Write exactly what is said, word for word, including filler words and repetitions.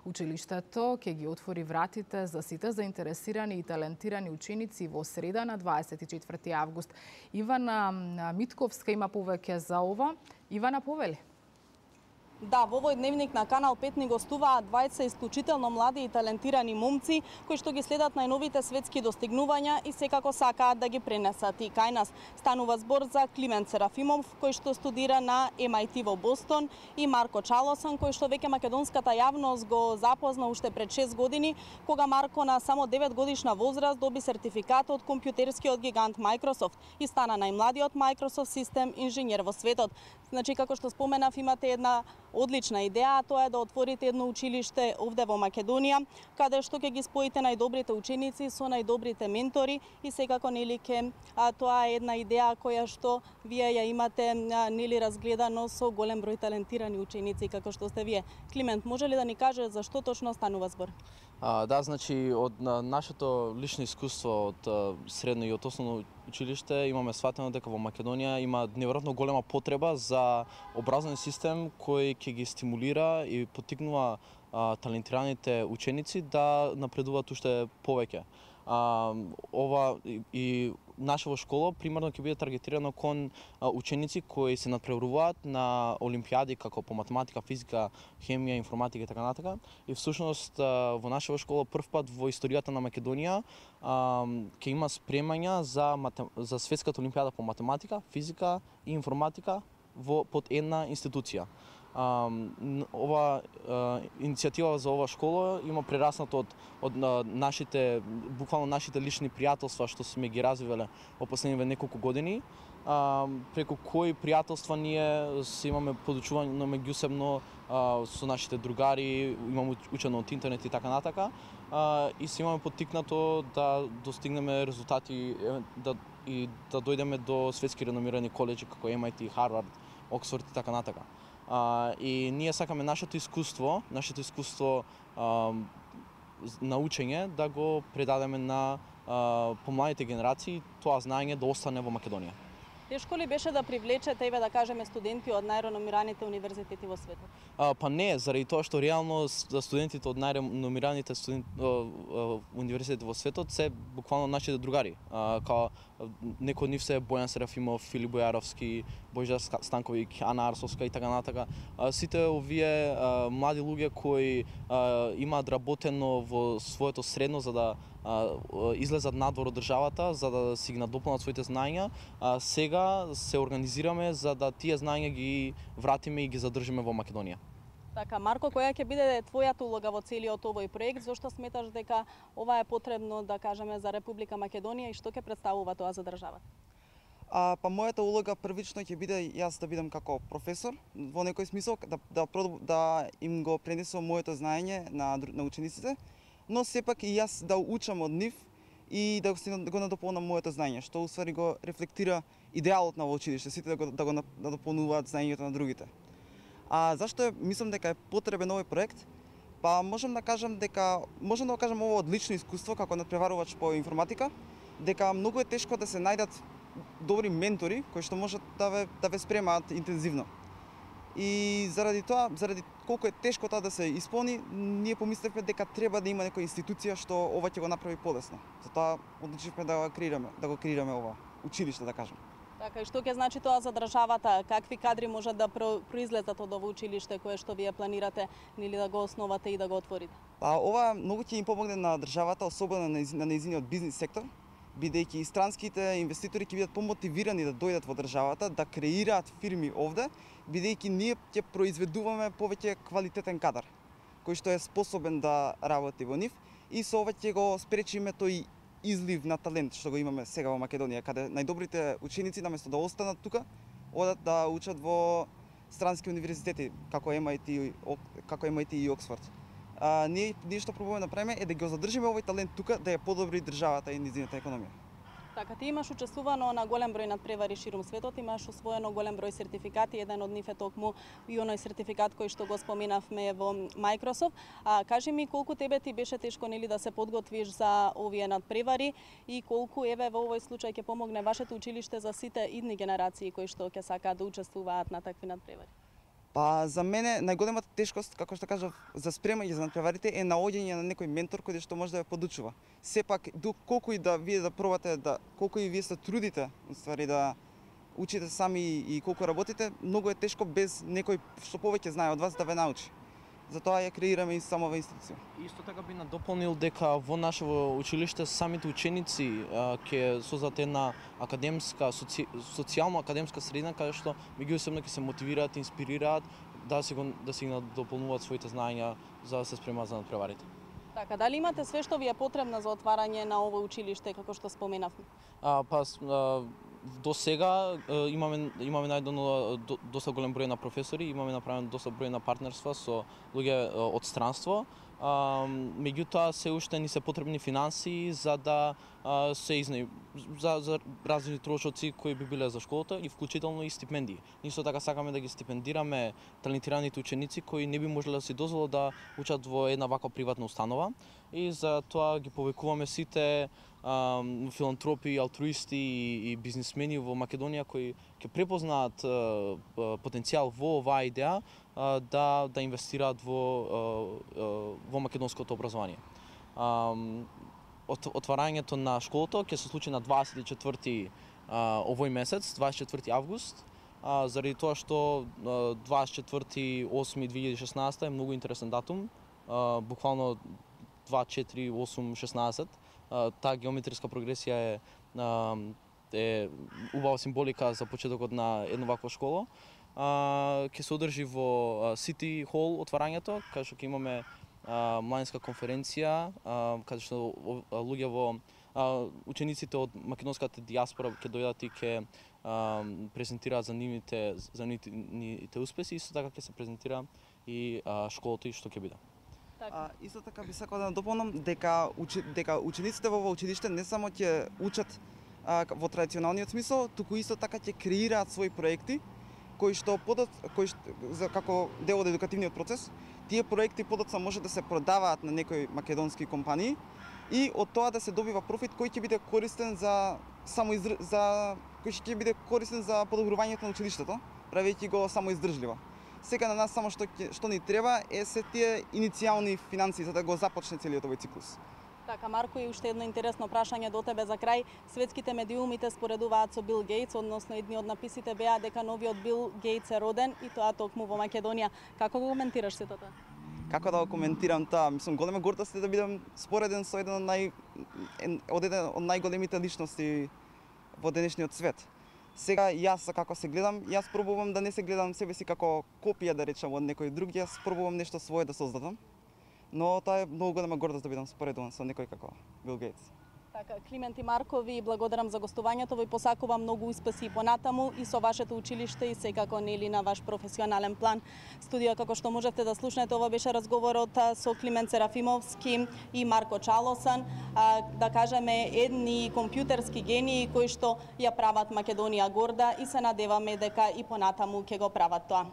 Училиштето ќе ги отвори вратите за сите заинтересирани и талентирани ученици во среда на дваесет и четврти август. Ивана Митковска има повеќе за ова. Ивана, повели. Да, во овој дневник на Канал пет ни гостуваат двајца исклучително млади и талентирани момци кои што ги следат најновите светски достигнувања и секако сакаат да ги пренесат и кај нас. Станува збор за Климент Серафимов кој што студира на Ем Ај Ти во Бостон и Марко Чалосан кој што веќе македонската јавност го запозна уште пред шест години кога Марко на само девет годишна возраст доби сертификат од компјутерскиот гигант Microsoft и стана најмладиот Microsoft систем инженер во светот. Значи, како што споменав, имате една одлична идеја, а тоа е да отворите едно училиште овде во Македонија, каде што ќе ги споите најдобрите ученици со најдобрите ментори и секако нели ке тоа е една идеја која што вие ја имате нели разгледано со голем број талентирани ученици како што сте вие. Климент, може ли да ни каже за што точно станува збор? А, да, значи од на, нашето лично искуство од а, средно и од основно училиште имаме сватено дека во Македонија има неверојатно голема потреба за образовен систем кој ќе ги стимулира и поттикнува а, талентираните ученици да напредуваат уште повеќе. А, ова и, и нашава школа примерно ќе биде таргетирано кон а, ученици кои се надпреваруваат на олимпијади како по математика, физика, хемија, информатика и така натака. И всушност а, во нашава школа првпат во историјата на Македонија а, ќе има спремања за матем... за светската олимпијада по математика, физика и информатика во под една институција. Uh, ова uh, иницијатива за ова школа има прераснато од од uh, нашите буквално нашите лични пријателства што сме ги развивале во последниве неколку години, uh, преку кои пријателства ние се имаме подучување меѓусебно uh, со нашите другари, имаме учено од интернет и така натака, uh, и се имаме поттикнато да достигнеме резултати да и да дојдеме до светски реномирани колеџи како Ем Ај Ти, Харвард, Оксфорд и така натака. Uh, и ние сакаме нашето искуство, нашето искуство uh, на учење да го предадеме на uh, помладите генерации, тоа знаење да остане во Македонија. Тешко ли беше да привлечете, еве да кажеме, студенти од најреномираните универзитети во светот? А, па не, заради тоа што реално студентите од најреномираните студент, универзитети во светот се буквално нашите другари. А, као некои од нив се Бојан Серафимов, Филип Бојаровски, Бојжар Станковиќ, Ана Арсовска и така натака. А, сите овие а, млади луѓе кои а, имаат работено во своето средно за да а, излезат надвор од државата, за да си ги надополнат своите знаења, а, сега се организираме за да тие знаења ги вратиме и ги задржиме во Македонија. Така, Марко, која ќе биде твојата улога во целиот овој проект? Зошто сметаш дека ова е потребно, да кажеме, за Република Македонија и што ќе представува тоа за државата? А, па мојата улога првично ќе биде јас да бидам како професор, во некој смисол да да да им го пренесувам моето знаење на на учениците, но сепак и јас да учам од нив и да го надополнам моето знаење, што усвари го рефлектира идеалот на училиште, сите да го да го надополнуваат знаењето на другите. А зашто е, мислам дека е потребен овој проект? Па можам да кажам дека можам да кажам ова од лично искуство како надпреварувач по информатика, дека многу е тешко да се најдат добри ментори кои што можат да ве да ве спремаат интензивно. И заради тоа, заради колку е тешко тоа да се исполни, ние помислевме дека треба да има некоја институција што ова ќе го направи полесно. Затоа одлучивме да го креираме, да го креираме ова училиште, да кажам. Така, и што ќе значи тоа за државата? Какви кадри можат да произлезат од ово училиште кое што вие планирате нели да го основате и да го отворите? Па ова многу ќе им помогне на државата, особено на нејзиниот бизнис сектор, бидејќи и странските инвеститори ќе бидат помотивирани да дојдат во државата, да креираат фирми овде, бидејќи ние ќе произведуваме повеќе квалитетен кадар, кој што е способен да работи во нив, и со ова ќе го спречиме тој излив на талент што го имаме сега во Македонија, каде најдобрите ученици наместо да останат тука, одат да учат во странски универзитети како Ем Ај Ти, како Ем Ај Ти и Оксфорд. А, ние, ние што пробуваме да направиме е да ги задржиме овој талент тука, да ја подобри државата и низината економија. Така, ти имаш учествувано на голем број надпревари ширум светот, имаш освоено голем број сертификати, еден од нив е токму и оној сертификат кој што го споменавме во Microsoft. А кажи ми колку тебе ти беше тешко нели да се подготвиш за овие надпревари и колку еве во овој случај ќе помогне вашето училиште за сите идни генерации кои што ќе сакаат да учествуваат на такви надпревари? Па за мене најголемата тешкост, како што кажав, за спремање за надпреварите е наоѓање на некој ментор кој што може да ја подучува. Сепак колку и да вие да пробате да колку и вие се трудите, уствари да учите сами и колку работите, многу е тешко без некој што повеќе знае од вас да ве научи. Затоа ја креираме и самава институција. Исто така би надополнил дека во нашето училиште самите ученици ќе создадат една академска, соци... социјално академска средина каде што меѓусебно ќе се мотивираат, инспирираат да се го, да се надополнуваат своите знаења за да се спремаат за надпреварите. Така, дали имате све што ви е потребно за отварање на ово училиште како што споменавме? А, па а, до сега имаме имаме најдено до, доста голем број на професори, имаме направено доста број на партнерства со луѓе од странство. А, меѓутоа се уште ни се потребни финансии за да а, се изне за, за различни трошоци кои би биле за школата и вклучително и стипендии. Исто така сакаме да ги стипендираме талентираните ученици кои не би можеле да си дозволат да учат во една ваква приватна установа и за тоа ги повикуваме сите а, филантропи, алтруисти и, и бизнисмени во Македонија кои ќе препознаат а, потенцијал во оваа идеја а, да да инвестираат во а, во македонското образование. А, от, отварањето на школата ќе се случи на дваесет и четврти а, овој месец, дваесет и четврти август, а, заради тоа што а, дваесет и четврти осми две илјади и шеснаесета е многу интересен датум, а, буквално два, четири, осум, шеснаесет. А, таа геометриска прогресија е, а, е убава символика за почетокот на една ваква школа. Uh, ќе се одржи во Сити Хол отварањето, каде што ќе имаме uh, младинска конференција, uh, каде што луѓе во uh, учениците од македонската дијаспора ќе дојдат и ќе uh, презентираат за нивните за нивните успеси, исто така ќе се презентира и uh, школата и што ќе биде. А, исто така би сакал да надополнам дека учи, дека учениците во ова училиште не само ќе учат а, во традиционалниот смисол, туку исто така ќе креираат своји проекти кои што подот кои што, за како дел од едукативниот процес, тие проекти подоцна може да се продаваат на некои македонски компании и од тоа да се добива профит кој ќе биде користен за само изр... за кој ќе биде користен за подобрувањето на училиштето, правејќи го само издржливо. Сега на нас само што што ни треба е се тие иницијални финансии за да го започне целиот овој циклус. Така, Марко, и уште едно интересно прашање до тебе за крај. Светските медиуми те споредуваат со Бил Гейтс, односно едни од написите беа дека новиот Бил Гейтс е роден и тоа токму во Македонија. Како го коментираш сето тоа? Како да го коментирам тоа? Мислам, голема гордост е да бидам спореден со еден од нај од еден од најголемите личности во денешниот свет. Сега јас како се гледам, јас пробувам да не се гледам себе си како копија да речам од некој друг, јас пробувам нешто свое да создадам. Но тоа е многу голема гордост да бидам споредуван со некој како Бил Гейтс. Така, Климент и Марко, ви благодарам за гостувањето, ви посакувам многу успеси понатаму и со вашето училиште и секако нели на ваш професионален план. Студио, како што можете да слушнете, ова беше разговорот со Климент Серафимовски и Марко Чалосан, а, да кажеме едни компјутерски гении кои што ја прават Македонија горда и се надеваме дека и понатаму ќе го прават тоа.